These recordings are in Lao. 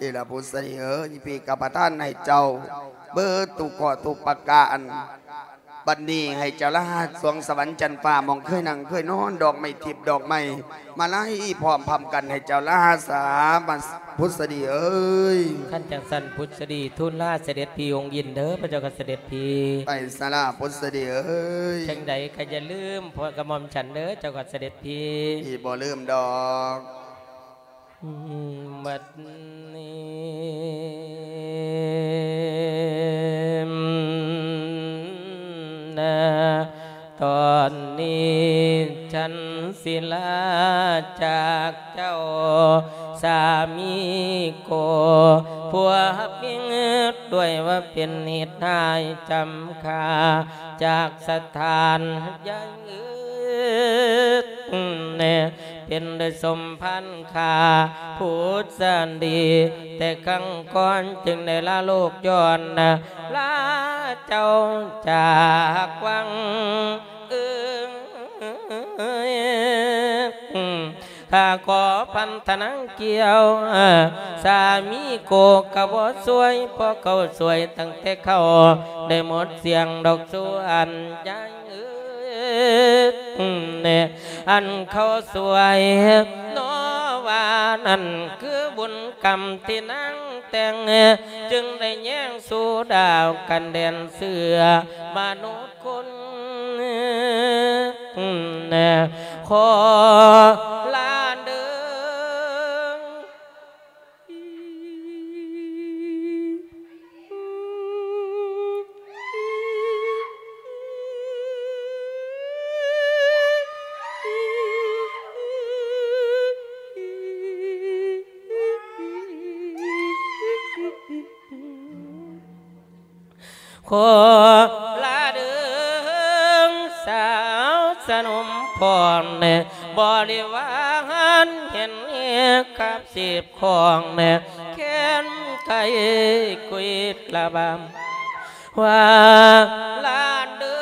ເອລະ ພຸດສະດີເອີຍ ພີ່ກະປະທານໃຫ້ເຈົ້າເບີດທຸກຂໍ້ທຸກປະການ. ບັດນີ້ໃຫ້ເຈົ້າລາສວງສະຫວັນຈັນຟ້າ ໝ່ອງເຄີຍນັ່ງເຄີຍນອນ ດອກໄມ້ທິບດອກໄມ້ມາໄລພ້ອມພຳກັນ ໃຫ້ເຈົ້າລາສາ ພຸດສະດີເອີຍ. ຄັນຈັ່ງຊັ້ນ ພຸດສະດີທູນລາສະເດັດພີ່ອົງຍິນເດີ ພະເຈົ້າຂ້າສະເດັດພີ່. ໄປສາລາພຸດສະດີເອີຍ. ຈັ່ງໃດກໍຢ່າລືມພວກກະໝ່ອມສັນເດີ ເຈົ້າຂ້າສະເດັດພີ່. ພີ່ບໍ່ລືມດອກ. ບັດນີ້ນະ ຕອນນີ້ສັນສິລາຈາກເຈົ້າສາມີໂກ ພວກພິງດ້ວຍວ່າເປັນເຫດຮ້າຍຈຳຂ້າຈາກສະຖານໃຫຍ່ ເປັນໄດ້ສົມພັນຂ້າຜູ້ສັນດີ ແຕ່ຄັ້ງກ່ອນຈຶ່ງໄດ້ລາໂລກຍ້ອນລາເຈົ້າຈາກວັງເອີຍ. ຂ້າຂໍພັນທະນາງກ່ຽວ ສາມີໂກກະບໍ່ຊ່ວຍ ເພາະເຂົາຊ່ວຍຕັ້ງແຕ່ເຂົາໄດ້ໝົດສ່ຽງດອກສ່ວນໃຫຍ່ ອັນເຂົາຊ່ວຍນ້ອງ ວ່ານັ້ນຄືບຸນກຳທີ່ນາງແຕ່ງ ຈຶ່ງໄດ້ແຍງສູ່ດາວກັນແດນເສືອມະນຸດຄົນ ຂໍລາເດີ. ຂໍລາເດີສາວສະໜຸມພອນ ບໍລິວານເຫັນກັບສິບຂອງ ແຄນໄກ່ກຸຍກລະບາມ ວ່າລາເດີ.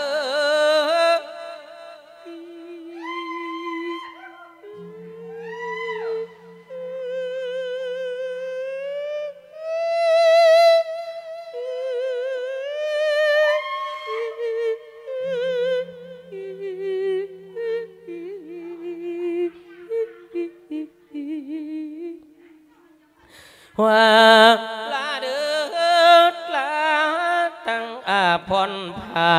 ວ່າລາເດີລາທັງອາພອນຜ້າ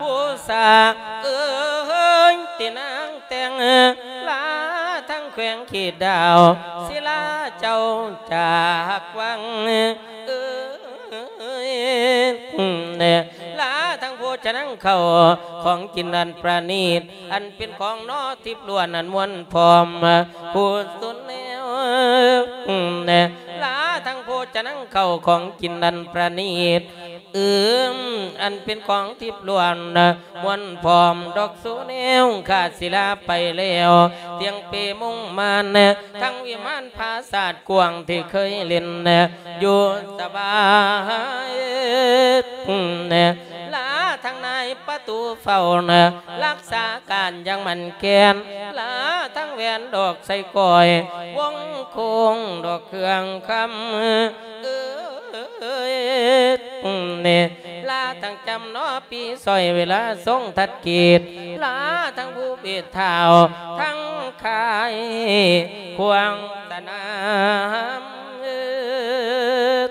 ພູສາເອີຍ ທີ່ນາງແຕ່ງ ລາທັງແຂວງເຂດດາວ ສິລາເຈົ້າຈາກວັງເອີຍ ລາທັງໂພຊະນັງເຂົ້າຂອງກິນອັນປະນີດ ອັນເປັນຂອງໜໍທິບລ້ວນອັນມ່ວນພ້ອມ ຜູ້ສຸນແນວ ລາທັງໂພຊະນັງເຂົ້າຂອງກິນອັນປະນີດ ອືມ ອັນເປັນຂອງທິບລ້ວນ ມ່ວນພ້ອມດອກສູແນວ ຂ້າສິລາໄປແລ້ວ ຕຽງເປມຸງມານ ທັງວິມານຜາສາດກວ້າງທີ່ເຄີຍຫຼິ້ນ ຢູ່ສະບາຍ ລາທັງນາຍປະຕູເຝົ້າ ລັກສາການຢ່າງໝັ້ນແກ່ນ ລາທັງແຫວນດອກໄຊກ້ອຍ ວົງໂຄ້ງດອກເຄື່ອງຄຳ ເອີຍ ລາທັງຈຳໜໍປີ ຊ່ອຍເວລາຊົງທັດກີດ ລາທັງຜູ້ເບດທ້າວ ທັງຄ້າຍຂວາງສະໜາມ ເອີຍ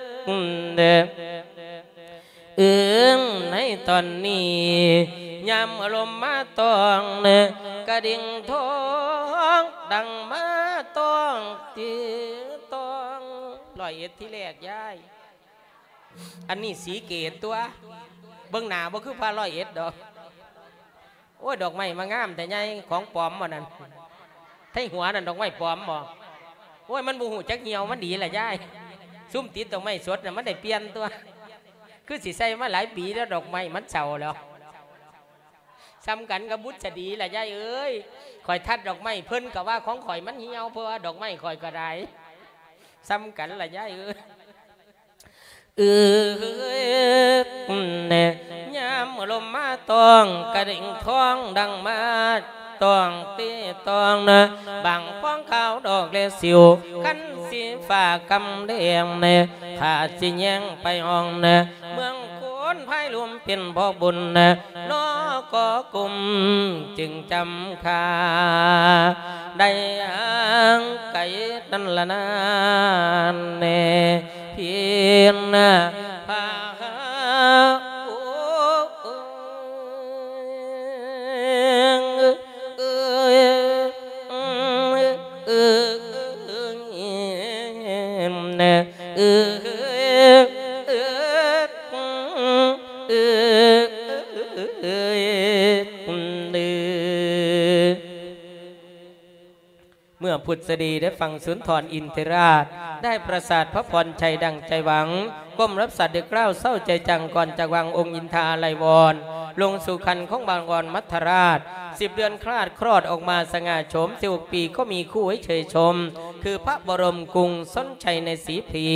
ອືມ ໃນຕອນນີ້ ຍາມອາລົມມາຕ້ອງ ກະດິ່ງທອງດັງມາຕ້ອງຕີຕ້ອງ ຮ້ອຍເອັດທີແລກຍາຍ ອັນນີ້ສີເກດຕົວະ ເບິ່ງໜ້າບໍ່ຄືພະຮ້ອຍເອັດດອກ. ໂອ້ຍ ດອກໄມ້ມາງາມແທ້ຍາຍ ຂອງປອມບໍ່ນັ້ນ ໄທຫົວນັ້ນດອກໄມ້ປອມບໍ່? ໂອ້ຍ ມັນບໍ່ຮູ້ຈັກຫ່ຽວມັນດີລະຍາຍ ຊຸມຕິດດອກໄມ້ສົດນະ ມັນໄດ້ປ່ຽນຕົວະ ຄືຊິໃສ່ມາຫຼາຍປີແລ້ວ ດອກໄມ້ມັນເຊົາແລ້ວ. ສ່ຳກັນກັບບຸດສະດີລະຍາຍເອີຍ ຂ້ອຍທັດດອກໄມ້ ເພິ່ນກະວ່າຂອງຂ້ອຍມັນຫ່ຽວ ເພາະວ່າດອກໄມ້ຂ້ອຍກະໄດ້ ສ່ຳກັນລະຍາຍເອີຍ. ເອີຍ ຍາມລົມມາຕ້ອງ ກະດິ່ງທອງດັງມາຕ້ອງຕີຕ້ອງນະ ບາງຟອງຂາວດອກແລຊິວ ຄັນສີຟ້າກຳແດງນະ ຂ້າຊິແຍງໄປຫ້ອງນະ ເມືອງໂຄນພາຍລວມເປັນພໍ່ບຸນນະ ນະກໍກຸມຈຶ່ງຈຳຂ້າ ໄດ້ຫ່າງໄກນັ້ນລະນານແນ່ ພີນນະພາ ເມື່ອພຸດສະດີໄດ້ຟັງສຸນທອນອິນທິລາດ ໄດ້ປະສາດພະພອນໄຊດັ່ງໃຈຫວັງ ກົ້ມຮັບສັດເດັກລາວເສົ້າໃຈຈັງ ກ່ອນຈາກວັງອົງອິນທາໄລວອນ ລົງສູ່ຄັນຂອງບາງອອນມັດທະລາດ ສິບເດືອນຄລາດຄລອດອອກມາສະຫງ່າໂສມ ສິບຫົກປີກໍມີຄູ່ໃຫ້ເຊີຍຊົມ ຄືພະບໍລົມກຸງຊົນໄຊໃນສີພີ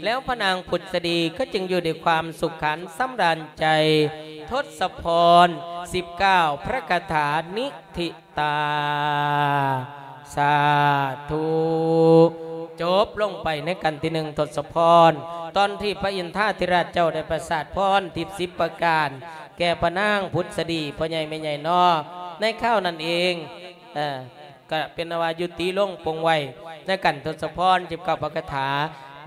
ແລ້ວພະນາງພຸດສະດີກໍຈຶ່ງຢູ່ດ້ວຍຄວາມສຸກຂັນສຳລານໃຈ ທົດສະພອນ ສິບເກົ້າ ພະຄາຖານິທິ ຕາ ສາທຸ ຈົບລົງໄປໃນກັນທີໜຶ່ງທົດສະພອນ ຕອນທີ່ພະອິນທາທິລາດເຈົ້າໄດ້ປະສາດພອນທິບສິບປະການ ແກ່ພະນາງພຸດສະດີ ພໍ່ໃຫຍ່ແມ່ໃຫຍ່ເນາະ ໃນຄາວນັ້ນເອງ ເອີ ກ ກະເປັນອັນວ່າຍຸຕິລົງປົງໄວ້ໃນກັນທົດສະພອນ ສິບເກົ້າ ພະຄາຖາ.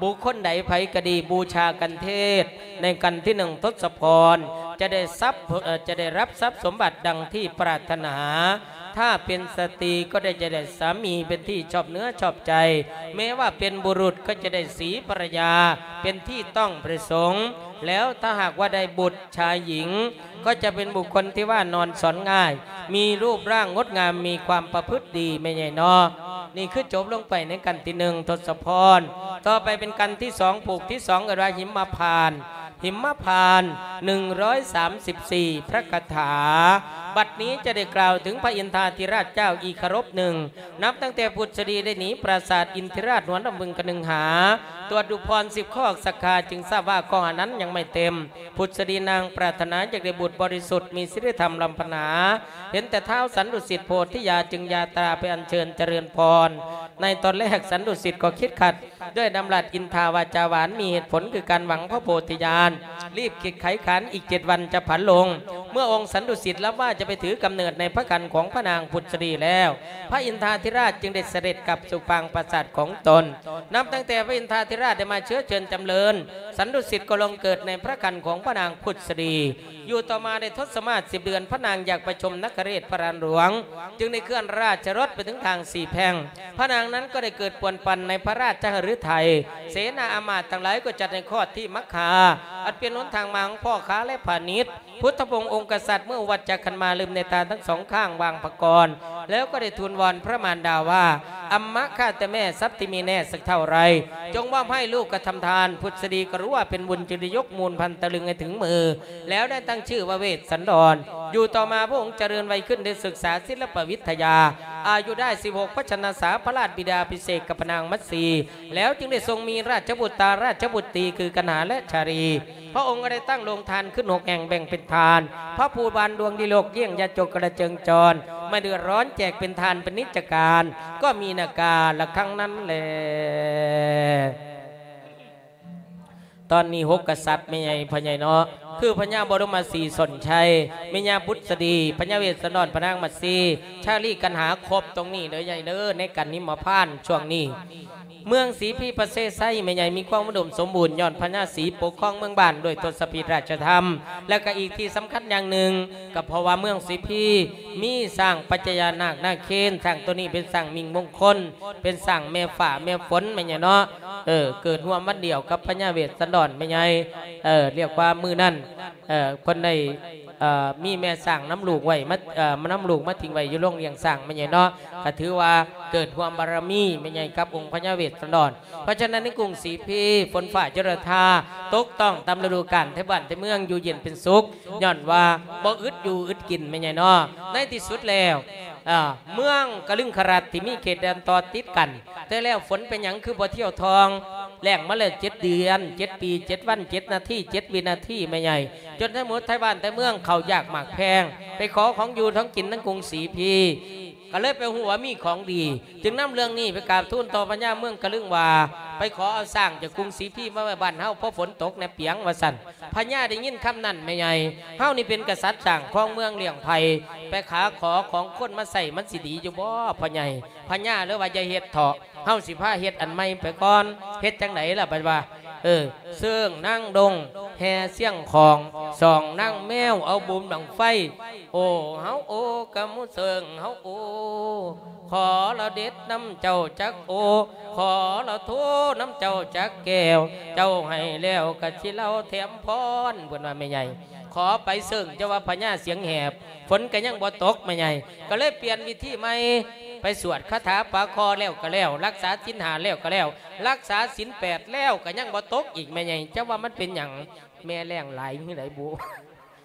ບຸກຄົນໃດໃຜກະດີບູຊາກັນເທດໃນກັນທີໜຶ່ງທົດສະພອນ ຈະໄດ້ຊັບ ເອີ ຈະໄດ້ຮັບຊັບສົມບັດດັ່ງທີ່ປາດຖະໜາ. ຖ້າເປັນສະຕີກໍໄດ້ ຈະໄດ້ສາມີເປັນທີ່ຊອບເນື້ອຊອບໃຈ, ແມ້ວ່າເປັນບຸລຸດກໍຈະໄດ້ສີພັນລະຍາເປັນທີ່ຕ້ອງປະສົງ. ແລ້ວຖ້າຫາກວ່າໄດ້ບຸດຊາຍຍິງ ກໍຈະເປັນບຸກຄົນທີ່ວ່ານອນສອນງ່າຍ, ມີຮູບຮ່າງງົດງາມ, ມີຄວາມປະພຶດດີ ແມ່ໃຫຍ່ເນາະ. ນີ້ຄືຈົບລົງໄປໃນກັນທີໜຶ່ງທົດສະພອນ. ຕໍ່ໄປເປັນກັນທີສອງ ຜູກທີສອງ ເອີ້ນວ່າຫິມມະພານ. ຫິມມະພານ ໜຶ່ງຮ້ອຍສາມສິບສີ່ ພະຄາຖາ. ບັດນີ້ຈະໄດ້ກ່າວເຖິງພະອິນທາທິລາດເຈົ້າອີກເຄົາລົບໜຶ່ງ. ນັບຕັ້ງແຕ່ພຸດສະດີໄດ້ໜີປາສາດອິນທິລາດຫົວລຳບຶງກະໜຶງຫາ ຕວດດູພອນສິບຂໍ້ສັກຂາ ຈຶ່ງຊາບວ່າຂໍ້ອັນນັ້ນຍັງໄມ່ເຕັມ. ພຸດສະດີນາງປາດຖະໜາຢາກໄດ້ບຸດບໍລິສຸດ ມີສິລິທຳລ້ຳພັນນາ. ເຫັນແຕ່ທ້າວສັນດຸສິດໂພທິຍາ ຈຶ່ງຢາຕາໄປອັນເຊີນຈະເລີນພອນ. ໃນຕອນແລກສັນດຸສິດກໍຄິດຂັດ ດ້ວຍດຳລັດອິນທາວາຈາຫວານ ມີເຫດຜົນຄືການຫວັງພະໂພທິຍານ ຣີບຄິດໄຂຂັນ ອີກເຈັດວັນຈະຜັນລົງ. ເມື່ອອົງສັນດຸສິດລາວາຈະໄປຖືກຳເນີດໃນພະຄັນຂອງພະນາງພຸດສະດີແລ້ວ ພະອິນທາທິລາດຈຶ່ງໄດ້ສະເດັດກັບສູ່ປາງປາສາດຂອງຕົນ. ນັບຕັ້ງແຕ່ພະອິນທາທິລາດໄດ້ມາເຊື້ອເຊີນຈຳເລີນ ສັນດຸສິດກໍລົງເກີດໃນພະຄັນຂອງພະນາງພຸດສະດີ. ຢູ່ຕໍ່ມາໄດ້ທົດສະມາດສິບເດືອນ ພະນາງຢາກໄປຊົມນະຄະເລດພະລານຫຼວງ ຈຶ່ງໄດ້ເຄື່ອນລາຊະລົດໄປເຖິງທາງສີ່ແພ່ງ. ພະນາງນັ້ນກໍໄດ້ເກີດປວນປັ່ນໃນພະລາຊະຫະລືໄທ, ເສນາອາມາດທັງຫຼາຍກໍຈັດໃຫ້ຄອດທີ່ມັກຄາ ອັນເປັນຫົນທາງມາຂອງພໍ່ຄ້າ ແລະ ພານິດ. ພຸດທະວົງອົງກະສັດເມື່ອອຸວັດຈັກຂັນມາ ລືມເນຕາທັງສອງຂ້າງວາງພະກອນ ແລ້ວກໍໄດ້ທູນວອນພະມານດາວ່າ ອຳມະຂ້າແຕ່ແມ່ ຊັບທີ່ມີແນ່ສັກເທົ່າໃດ ຈົ່ງມອບໃຫ້ລູກກະທຳທານ. ພຸດສະດີກໍຮູ້ວ່າເປັນບຸນ ຈຶ່ງໄດ້ຍົກມູນພັນຕະລຶງໃຫ້ເຖິງມື ແລ້ວໄດ້ຕັ້ງຊື່ວ່າເວດສັນດອນ. ຢູ່ຕໍ່ມາພະອົງຈະເລີນໄວຂຶ້ນ ໄດ້ສຶກສາສິລະປະວິທະຍາ ອາຍຸໄດ້ສິບຫົກພັນຊະນະສາ ພະລາດບິດາພິເສກກັບພະນາງມັດສີ ແລ້ວຈຶ່ງໄດ້ຊົງມີລາຊະບຸດຕາ ລາຊະບຸດຕີ ຄືກັນຫາ ແລະ ຊາລີ. ພະອົງກໍໄດ້ຕັ້ງໂຮງທານຂຶ້ນຫົກແຫ່ງ ແບ່ງເປັນທານ ພະພູບານດວງດີໂລກ ຢ້ຽງຍາຈົກກະລະເຈີງຈອນ ມາເດືອດຮ້ອນແຈກເປັນທານເປັນນິດຈະການ ກໍມີນາກາລະຄັງນັ້ນແລ. ຕອນນີ້ຫົກກະສັດແມ່ໃຫຍ່ ພໍ່ໃຫຍ່ເນາະ ຄືພະຍາບໍລົມມະສີສົນໄຊ, ແມ່ຍາບຸດສະດີ, ພະຍາເວດສັນດອນ, ພະນາງມັດສີ, ຊາລີກັນຫາ ຄົບຕົງນີ້ເດີໃຫຍ່ເດີ ໃນກັນຫິມມະພານຊ່ວງນີ້. ເມືອງສີພີປະເສດໄຊແມ່ໃຫຍ່ ມີຄວາມອຸດົມສົມບູນ ຍ້ອນພະຍາສີປົກຄອງເມືອງບ້ານດ້ວຍທົດສະພີດລາຊະທຳ ແລະ ກະອີກທີ່ສຳຄັນຢ່າງໜຶ່ງ ກະເພາະວ່າເມືອງສີພີມີຊ້າງປັດຈະຍານາກນາເຄນ. ຊ້າງໂຕນີ້ເປັນຊ້າງມິ່ງມົງຄົນ ເປັນຊ້າງແມ່ຟ້າແມ່ຝົນແມ່ໃຫຍ່ເນາະ. ເອີ ເກີດຮ່ວມວັນດຽວກັບພະຍາເວດສັນດອນແມ່ໃຫຍ່. ເອີ ລຽກວ່າມື້ນັ້ນ ເອີ ເພິ່ນໄດ້ ເອີ ມີແມ່ຊ້າງນຳລູກໄວ້ ມາ ເອີ ມານຳລູກມາຖິ້ມໄວ້ຢູ່ໂຮງລ້ຽງຊ້າງແມ່ໃຫຍ່ເນາະ. ກະຖືວ່າເກີດຮ່ວມບາລະມີແມ່ໃຫຍ່ກັບອົງພະຍາເວດສັນດອນ. ເພາະສະນັ້ນໃນກຸງສີພີ ຝົນຟ້າຈຸລະທາຕົກຕ້ອງຕາມລະດູການ ໄທບ້ານໄທເມືອງຢູ່ເຢັນເປັນສຸກ ຍ້ອນວ່າບໍ່ອຶດຢູ່ອຶດກິນແມ່ໃຫຍ່ເນາະ. ໃນທີ່ສຸດແລ້ວ ເອີ ເມືອງກະລຶງຄະລັດທີ່ມີເຂດແດນຕໍ່ຕິດກັນ ແຕ່ແລ້ວຝົນເປັນຫຍັງຄືບໍ່ທ່ຽວທ່ອງ? ແລ້ງມາແລ້ວເຈັດເດືອນ ເຈັດປີ ເຈັດວັນ ເຈັດນາທີ ເຈັດວິນາທີແມ່ໃຫຍ່ ຈົນໄທໝົດໄທບ້ານໄທເມືອງເຂົ້າຢາກໝາກແພງ ໄປຂໍຂອງຢູ່ຂອງກິນທາງກຸງສີພີ ກະເລີຍໄປຮູ້ວ່າມີຂອງດີ ຈຶ່ງນຳເລື່ອງນີ້ໄປກາບທູນຕໍ່ພະຍາເມືອງກະລຶງວ່າ ໄປຂໍເອົາຊ້າງຈາກກຸງສີພີມາໄວ້ບ້ານເຮົາ ເພາະຝົນຕົກແນ່ປຽງ ວ່າຊັ້ນ. ພະຍາໄດ້ຍິນຄຳນັ້ນແມ່ໃຫຍ່ ເຮົານີ້ເປັນກະສັດສ້າງຄອງເມືອງລ້ຽງໄພ ໄປຫາຂໍຂອງຄົນມາໃຊ້ ມັນຊິດີຢູ່ບໍ່ພໍ່ໃຫຍ່? ພະຍາເລີຍວ່າ ຢ່າເຮັດເຖາະ ເຮົາຊິພາເຮັດອັນໃໝ່ໄປກ່ອນ. ເຮັດຈັ່ງໃດລະບັດວ່າ? ເອີ ເຊິ່ງນາງດົງ ແຫ່ຊຽງຂອງ ສອງນາງແມວ ເອົາບຸມບັ້ງໄຟ. ໂອ ເຮົາໂອ ກະໝູເຊິ່ງເຮົາໂອ ຂໍລະເດັດນຳເຈົ້າຈັກໂອ ຂໍລະໂທນຳເຈົ້າຈັກແກ້ວ ເຈົ້າໃຫ້ແລ້ວກະຊິເລົ່າແຖມພອນ. ເພິ່ນວ່າແມ່ໃຫຍ່ ຂໍໄປເຊິ່ງ ເຈົ້າວ່າພະຍາສຽງແຫບ ຝົນກະຍັງບໍ່ຕົກແມ່ໃຫຍ່ ກະເລີຍປ່ຽນວິທີໃໝ່ ໄປສວດຄາຖາປາຄໍແລ້ວກະແລ້ວ ຮັກສາສິນຫ້າແລ້ວກະແລ້ວ ຮັກສາສິນແປດແລ້ວກະຍັງບໍ່ຕົກອີກແມ່ໃຫຍ່ ເຈົ້າວ່າມັນເປັນຫຍັງ? ແມ່ແລ້ງຫຼາຍຄືໃດບຸ?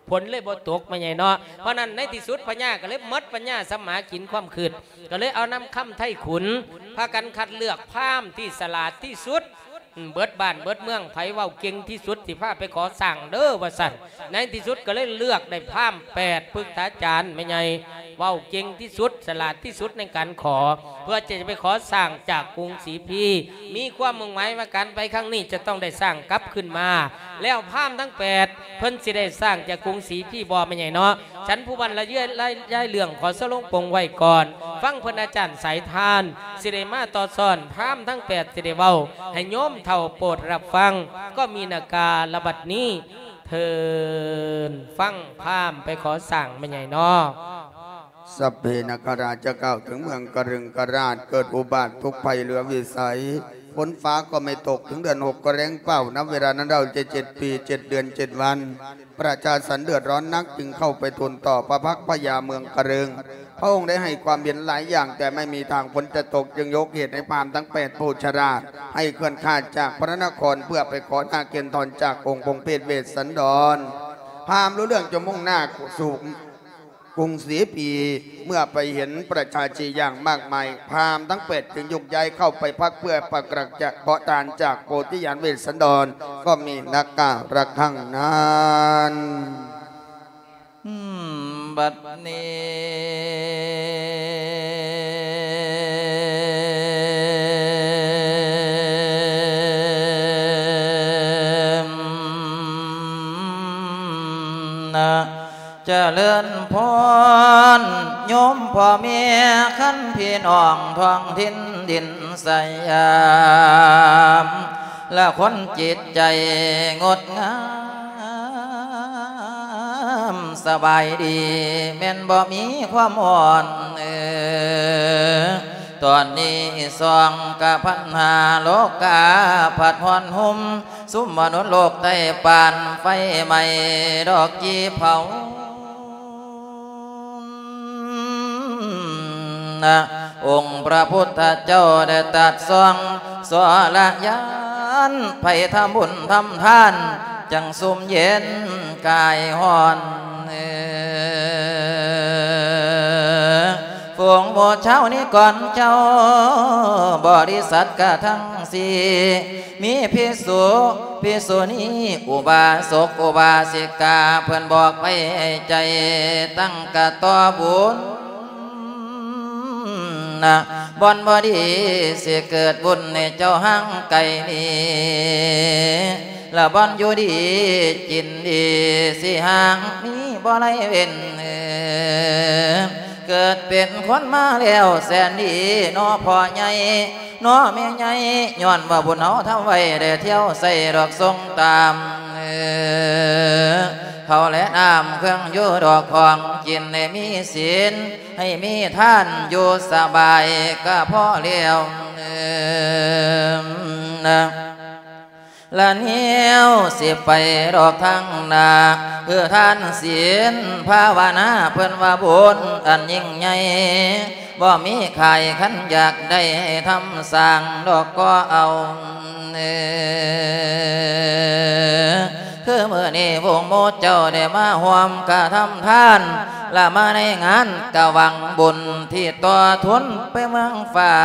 ຝົນເລີຍບໍ່ຕົກແມ່ໃຫຍ່ເນາະ. ເພາະນັ້ນໃນທີ່ສຸດພະຍາກະເລີຍໝົດປັນຍາສຳມາກິນຄວາມຄຶດ ກະເລີຍເອົານຳຄຳໄທຂຸນ ພາກັນຄັດເລືອກພາມທີ່ສະຫຼາດທີ່ສຸດ ເບິດບ້ານເບິດເມືອງ ໃຜເວົ້າເກັ່ງທີ່ສຸດ ຊິພາໄປຂໍສ້າງເດີ ວ່າຊັ້ນ. ໃນທີ່ສຸດກະເລີຍເລືອກໄດ້ພາມແປດ ປຶກສາຈານແມ່ໃຫຍ່ ເວົ້າເກັ່ງທີ່ສຸດ ສະຫຼາດທີ່ສຸດໃນການຂໍ ເພື່ອຈະໄປຂໍສ້າງຈາກກຸງສີພີ ມີຄວາມມຸ່ງໝາຍວ່າການໄປຄັ້ງນີ້ຈະຕ້ອງໄດ້ສ້າງກັບຄືນມາ. ແລ້ວພາມທັງແປດ ເພິ່ນຊິໄດ້ສ້າງຈາກກຸງສີພີບໍ່ ແມ່ໃຫຍ່ເນາະ? ສັນຜູ້ບັນລະຍາຍ ລະຍາຍເລື່ອງ ຂໍສະຫຼົງປົງໄວ້ກ່ອນ ຟັງເພິ່ນອາຈານສາຍທານ ຊິໄດ້ມາຕໍ່ຊ້ອນ ພາມທັງແປດຊິໄດ້ເວົ້າໃຫ້ໂຍມເຖົ້າໂປດຮັບຟັງ ກໍມີນາກາລະບັດນີ້ ເທີນຟັງພາມໄປຂໍສ້າງແມ່ໃຫຍ່ເນາະ. ສັບເພນາຄະລາດ ຈະກ່າວເຖິງເມືອງກະລຶງກະລາດ ເກີດອຸບາດທຸກໄພເຫຼືອວິໄສ ຝົນຟ້າກໍໄມ່ຕົກ ເຖິງເດືອນຫົກກໍແລ້ງເປົ່າ ນັບເວລານັ້ນເຮົາຈະເຈັດປີ ເຈັດເດືອນ ເຈັດວັນ ປະຊາຊົນເດືອດຮ້ອນໜັກ ຈຶ່ງເຂົ້າໄປທູນຕໍ່ພະພັກພະຍາເມືອງກະລຶງ ພະອົງໄດ້ໃຫ້ຄວາມເຫັນຫຼາຍຢ່າງ ແຕ່ໄມ່ມີທາງຝົນຈະຕົກ ຈຶ່ງຍົກເຫດໃຫ້ພາມທັງແປດຜູ້ສະຫຼາດ ໃຫ້ເຄື່ອນຂາດຈາກພະນະນະຄອນ ເພື່ອໄປຂໍໜ້າເກນທອນຈາກອົງພົງເພດເວດສັນດອນ. ພາມຮູ້ເລື່ອງຈະມຸ່ງໜ້າສູ່ກຸງສີພີ ເມື່ອໄປເຫັນປະຊາຊົນຢ່າງມາກມາຍ ພາມທັງແປດຈຶ່ງໂຍກຍ້າຍເຂົ້າໄປພັກ ເພື່ອປະກາດຈະຂໍທານຈາກໂພທິຍານເວດສັນດອນ ກໍມີນັກກາລະຄັ້ງນັ້ນ. ບັດນີ້ນະ ຈະເລີນພອນໂຍມພໍ່ແມ່ ຄັນພີ່ນ້ອງທ້ອງຖິ່ນດິນສະຫຍາມ ລະຄົນຈິດໃຈງົດງາມ ສະບາຍດີ ແມ່ນບໍ່ມີຄວາມຮ້ອນ ເອີ ຕອນນີ້ສອງກະພັນຫ້າ ໂລກາພັດຮ້ອນຫຸ້ມ ຊຸມມະນຸດໂລກໃຕ້ປານໄຟໄໝ້ ດອກຈີ່ເຜົາ ນະ ອົງພະພຸດທະເຈົ້າໄດ້ຕັດສອງ ສວລະຍານ ໃຜທຳບຸນທຳທານ ຈັ່ງຊຸ່ມເຢັນກາຍຮ້ອນ ເອີ ຝູງໝູ່ຊາວນິກອນເຈົ້າ ບໍລິສັດກະທັງສີ່ ມີພິກຂຸ ພິກຂຸນີ ອຸບາສົກ ອຸບາສິກາ ເພິ່ນບອກໄວ້ໃຫ້ໃຈຕັ້ງກະຕໍ່ບຸນນະ ບ່ອນບໍ່ດີຊິເກີດວຸ່ນໃຫ້ເຈົ້າຫ່າງໄກນີ້ ລະບ່ອນຢູ່ດີກິນດີຊິຫ່າງໜີບໍ່ໄດ້ເວັ້ນ ເກີດເປັນຄົນມາແລ້ວແສນດີ ເນາະພໍ່ໃຫຍ່ ເນາະແມ່ໃຫຍ່ ຍ້ອນວ່າບຸນເຮົາທຳໄວ້ ໄດ້ທ່ຽວໃສ່ດອກຊົງຕາມ ເຂົ້າແລະນ້ຳເຄື່ອງຢູ່ດອກຂອງກິນ ໃຫ້ມີສິນ ໃຫ້ມີທານ ຢູ່ສະບາຍກະພໍແລ້ວ ລະແນວຊິໄປດອກທາງໜ້າ ຄືທານສິນພາວະນາ ເພິ່ນວ່າບຸນອັນຍິ່ງໃຫຍ່ ບໍ່ມີຂາຍ ຄັນຢາກໄດ້ໃຫ້ທຳສ້າງດອກກໍເອົາ ຄືມື້ນີ້ວົງໝູ່ເຈົ້າໄດ້ມາຮ່ວມກະທຳທານ ລະມາໃນງານກະຫວັງບຸນທີ່ຕໍ່ທຶນໄປເມືອງຟ້າ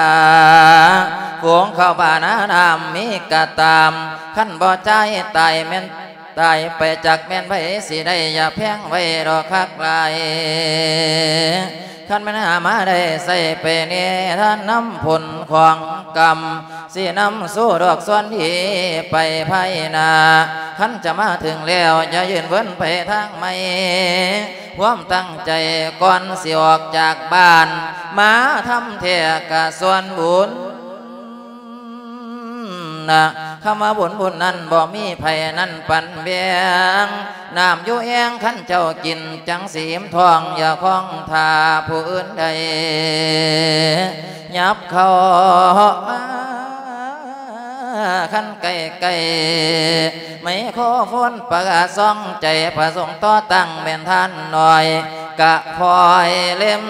ຝູງເຂົ້າບ້ານນານ້ຳມີກະຕາມ ຄັນບໍ່ຈ່າຍຕາຍແມ່ນຕາຍໄປ ຈັກແມ່ນໃຜຊິໄດ້ ຢ່າແພງໄວ້ດອກຄັກຫຼາຍ ຄັນແມ່ນຫາມາໄດ້ໃຊ້ໄປແນ່ ທານນຳຜົນຂອງກຳ ຊິນຳສູ່ດອກສ່ວນດີໄປພາຍໜ້າ ຄັນຈະມາເຖິງແລ້ວ ຢ່າຍື່ນເວີນໄປທາງໃໝ່ ຄວາມຕັ້ງໃຈກ່ອນຊິອອກຈາກບ້ານ ມາທຳແທ້ກະສ່ວນບຸນນະ ຄຳວ່າບຸນບຸນນັ້ນ ບໍ່ມີໃຜນັ້ນປັນແບ່ງ ນ້ຳຢູ່ແອ່ງຄັນເຈົ້າກິນ ຈັ່ງຊິອີ່ມທ້ອງ ຢ່າຄອງຖ້າຜູ້ອື່ນໃດ ຫຍັບເຂົ້າມາ ຄັນໃກ້ໆ ໄມໂຄຟອນປະກາດສ່ອງໃຈ ປະສົງຕໍ່ຕັ້ງແມ່ນທ່ານນ້ອຍ ກະຄອຍເລັມ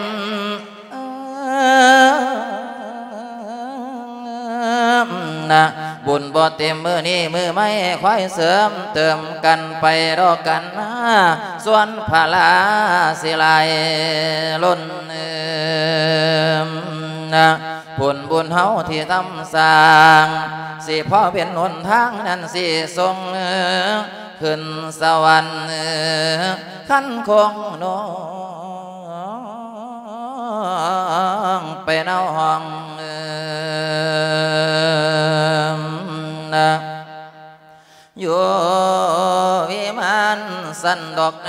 ນະ ບຸນບໍ່ເຕັມມື້ນີ້ມື້ໃໝ່ ຄອຍເສີມເຕີມກັນໄປດອກກັນນາ ສ່ວນພາລາຊິຫຼາຍລົ້ນ ນະ ຜົນບຸນເຮົາທີ່ທຳສ້າງ ຊິພໍເປັນຫົນທາງນັ້ນ ຊິສົ່ງຂຶ້ນສະຫວັນ ຄັນຄົງໜໍ. ໄປນຳຫ້ອງ ເອີ ນະ ຢູ່ວິມານຊັ້ນດອກນ